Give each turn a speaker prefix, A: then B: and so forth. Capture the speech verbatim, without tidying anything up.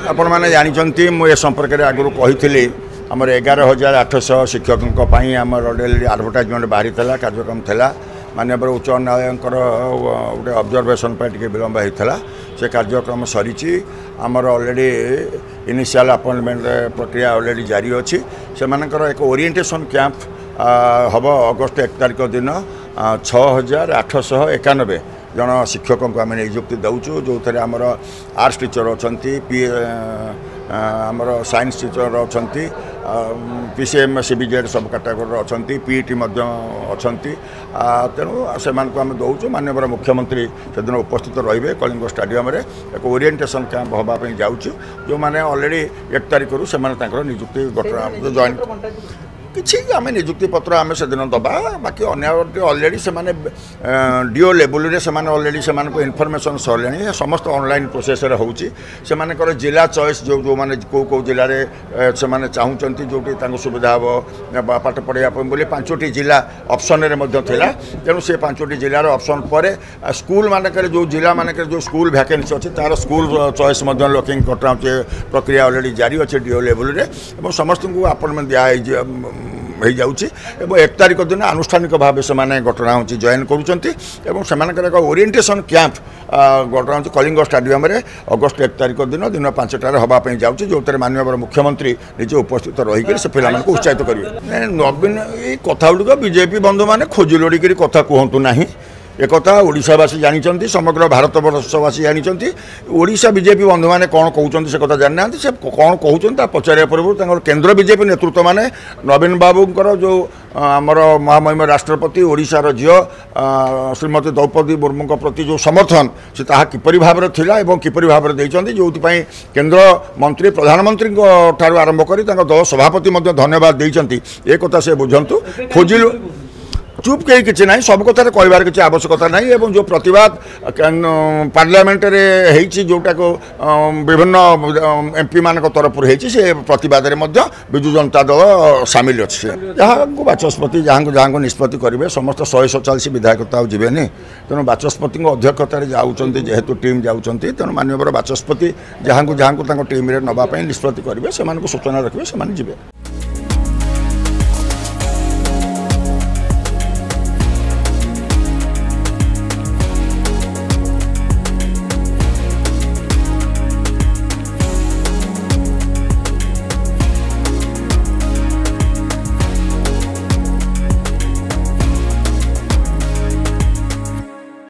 A: ଆପଣମାନେ ଜାଣିଛନ୍ତି, ମୁଁ ଏ ସମ୍ପର୍କରେ ଆଗରୁ କହିଥିଲି। ଆମର ଏଗାର ହଜାର ଆଠଶହ ଶିକ୍ଷକଙ୍କ ପାଇଁ ଆମର ଡେଲି ଆଡ଼ଭର୍ଟାଇଜମେଣ୍ଟ ବାହାରିଥିଲା, କାର୍ଯ୍ୟକ୍ରମ ଥିଲା। ମାନ୍ୟବର ଉଚ୍ଚ ନ୍ୟାୟାଳୟଙ୍କର ଗୋଟେ ଅବଜରଭେସନ୍ ପାଇଁ ଟିକେ ବିଳମ୍ବ ହେଇଥିଲା। ସେ କାର୍ଯ୍ୟକ୍ରମ ସରିଛି। ଆମର ଅଲରେଡ଼ି ଇନିସିଆଲ୍ ଆପଏଣ୍ଟମେଣ୍ଟ ପ୍ରକ୍ରିୟା ଅଲରେଡ଼ି ଜାରି ଅଛି। ସେମାନଙ୍କର ଏକ ଓରିଏଣ୍ଟେସନ୍ କ୍ୟାମ୍ପ ହେବ ଅଗଷ୍ଟ ଏକ ତାରିଖ ଦିନ। ଛଅ ହଜାର ଆଠଶହ ଏକାନବେ ଜଣ ଶିକ୍ଷକଙ୍କୁ ଆମେ ନିଯୁକ୍ତି ଦେଉଛୁ, ଯେଉଁଥିରେ ଆମର ଆର୍ଟ୍ସ ଟିଚର ଅଛନ୍ତି, ପି ଆମର ସାଇନ୍ସ ଟିଚର ଅଛନ୍ତି, P C M, C B Z ସବୁ କାଟାଗୋରୀର ଅଛନ୍ତି, ପି ଟି ମଧ୍ୟ ଅଛନ୍ତି। ତେଣୁ ସେମାନଙ୍କୁ ଆମେ ଦେଉଛୁ। ମାନ୍ୟବର ମୁଖ୍ୟମନ୍ତ୍ରୀ ସେଦିନ ଉପସ୍ଥିତ ରହିବେ। କଳିଙ୍ଗ ଷ୍ଟାଡ଼ିୟମରେ ଏକ ଓରିଏଣ୍ଟେସନ୍ କ୍ୟାମ୍ପ ହେବା ପାଇଁ ଯାଉଛୁ। ଯେଉଁମାନେ ଅଲରେଡ଼ି ଏକ ତାରିଖରୁ ସେମାନେ ତାଙ୍କର ନିଯୁକ୍ତି ଗଠନ ଜଏନ୍ କିଛି ଆମେ ନିଯୁକ୍ତି ପତ୍ର ଆମେ ସେଦିନ ଦେବା। ବାକି ଅନ୍ୟ ଅଲରେଡ଼ି ସେମାନେ ଡିଓ ଲେବୁଲରେ ସେମାନେ ଅଲରେଡ଼ି ସେମାନଙ୍କୁ ଇନଫର୍ମେସନ୍ ସରିଲାଣି। ସମସ୍ତ ଅନଲାଇନ୍ ପ୍ରୋସେସରେ ହେଉଛି। ସେମାନଙ୍କର ଜିଲ୍ଲା ଚଏସ୍, ଯେଉଁ ଯେଉଁମାନେ କେଉଁ କେଉଁ ଜିଲ୍ଲାରେ ସେମାନେ ଚାହୁଁଛନ୍ତି, ଯେଉଁଠି ତାଙ୍କୁ ସୁବିଧା ହେବ ପାଠ ପଢ଼ାଇବା ପାଇଁ ବୋଲି ପାଞ୍ଚଟି ଜିଲ୍ଲା ଅପସନ୍ରେ ମଧ୍ୟ ଥିଲା। ତେଣୁ ସେ ପାଞ୍ଚଟି ଜିଲ୍ଲାର ଅପସନ୍ ପରେ ସ୍କୁଲ ମାନଙ୍କରେ, ଯେଉଁ ଜିଲ୍ଲାମାନଙ୍କରେ ଯେଉଁ ସ୍କୁଲ ଭ୍ୟାକେନ୍ସି ଅଛି, ତା'ର ସ୍କୁଲ ଚଏସ୍ ମଧ୍ୟ ଲକିଂ କଟା ପ୍ରକ୍ରିୟା ଅଲରେଡ଼ି ଜାରି ଅଛି ଡିଓ ଲେବୁଲରେ ଏବଂ ସମସ୍ତଙ୍କୁ ଆପଏଣ୍ଟମେଣ୍ଟ ଦିଆହେଇଯିବ ହେଇଯାଉଛି। ଏବଂ ଏକ ତାରିଖ ଦିନ ଆନୁଷ୍ଠାନିକ ଭାବେ ସେମାନେ ଘଟଣା ହେଉଛି ଜଏନ୍ କରୁଛନ୍ତି ଏବଂ ସେମାନଙ୍କର ଏକ ଓରିଏଣ୍ଟେସନ୍ କ୍ୟାମ୍ପ ଘଟଣା ହେଉଛି କଳିଙ୍ଗ ଷ୍ଟାଡ଼ିୟମରେ ଅଗଷ୍ଟ ଏକ ତାରିଖ ଦିନ ଦିନ ପାଞ୍ଚଟାରେ ହେବା ପାଇଁ ଯାଉଛି, ଯେଉଁଥିରେ ମାନ୍ୟବର ମୁଖ୍ୟମନ୍ତ୍ରୀ ନିଜେ ଉପସ୍ଥିତ ରହିକରି ସେ ପିଲାମାନଙ୍କୁ ଉତ୍ସାହିତ କରିବେ। ନବୀନ ଏଇ କଥା ଗୁଡ଼ିକ ବିଜେପି ବନ୍ଧୁମାନେ ଖୋଜି ଲୋଡ଼ିକରି କଥା କୁହନ୍ତୁ ନାହିଁ। ଏକଥା ଓଡ଼ିଶାବାସୀ ଜାଣିଛନ୍ତି, ସମଗ୍ର ଭାରତବର୍ଷବାସୀ ଜାଣିଛନ୍ତି। ଓଡ଼ିଶା ବିଜେପି ବନ୍ଧୁମାନେ କ'ଣ କହୁଛନ୍ତି ସେ କଥା ଜାଣିନାହାନ୍ତି। ସେ କ'ଣ କହୁଛନ୍ତି ତା ପଚାରିବା ପୂର୍ବରୁ ତାଙ୍କର କେନ୍ଦ୍ର ବିଜେପି ନେତୃତ୍ୱମାନେ ନବୀନ ବାବୁଙ୍କର ଯେଉଁ ଆମର ମହାମହିମ ରାଷ୍ଟ୍ରପତି, ଓଡ଼ିଶାର ଝିଅ ଶ୍ରୀମତୀ ଦ୍ରୌପଦୀ ମୁର୍ମୁଙ୍କ ପ୍ରତି ଯେଉଁ ସମର୍ଥନ, ସେ ତାହା କିପରି ଭାବରେ ଥିଲା ଏବଂ କିପରି ଭାବରେ ଦେଇଛନ୍ତି, ଯେଉଁଥିପାଇଁ କେନ୍ଦ୍ର ମନ୍ତ୍ରୀ ପ୍ରଧାନମନ୍ତ୍ରୀଙ୍କ ଠାରୁ ଆରମ୍ଭ କରି ତାଙ୍କ ଦଳ ସଭାପତି ମଧ୍ୟ ଧନ୍ୟବାଦ ଦେଇଛନ୍ତି, ଏ କଥା ସେ ବୁଝନ୍ତୁ। ଖୋଜିଲୁ ଚୁପ୍ କେହି କିଛି ନାହିଁ, ସବୁ କଥାରେ କହିବାର କିଛି ଆବଶ୍ୟକତା ନାହିଁ। ଏବଂ ଯେଉଁ ପ୍ରତିବାଦ ପାର୍ଲାମେଣ୍ଟରେ ହେଇଛି, ଯେଉଁଟାକୁ ବିଭିନ୍ନ ଏମ୍ ପିମାନଙ୍କ ତରଫରୁ ହେଇଛି, ସେ ପ୍ରତିବାଦରେ ମଧ୍ୟ ବିଜୁ ଜନତା ଦଳ ସାମିଲ ଅଛି। ଯାହାଙ୍କୁ ବାଚସ୍ପତି ଯାହାଙ୍କୁ ଯାହାଙ୍କୁ ନିଷ୍ପତ୍ତି କରିବେ, ସମସ୍ତ ଶହେ ସତଚାଳିଶ ବିଧାୟକ ତ ଆଉ ଯିବେନି। ତେଣୁ ବାଚସ୍ପତିଙ୍କ ଅଧ୍ୟକ୍ଷତାରେ ଯାଉଛନ୍ତି, ଯେହେତୁ ଟିମ୍ ଯାଉଛନ୍ତି, ତେଣୁ ମାନ୍ୟବର ବାଚସ୍ପତି ଯାହାଙ୍କୁ ଯାହାଙ୍କୁ ତାଙ୍କ ଟିମ୍ରେ ନେବା ପାଇଁ ନିଷ୍ପତ୍ତି କରିବେ, ସେମାନଙ୍କୁ ସୂଚନା ରଖିବେ, ସେମାନେ ଯିବେ।